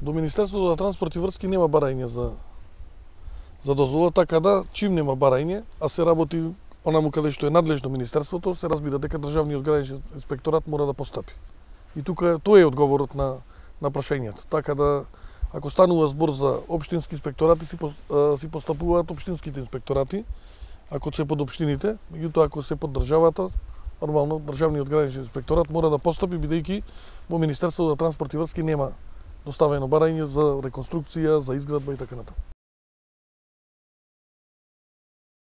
До Министерството за транспорт и врски нема барање за дозвола, така да чим нема барање, а се работи онаму каде што е надлежно Министерството, се разбира дека Државниот граничен инспекторат мора да постапи. И тука тоа е одговорот на прашањето. Така да, ако станува збор за општински инспекторати, си постапуваат општинските инспекторати, ако се под општините, меѓутоа ако се под државата, нормално Државниот граничен инспекторат мора да постапи, бидејќи во Министерството за транспорт и врски нема доставено барање за реконструкција, за изградба и така натаму.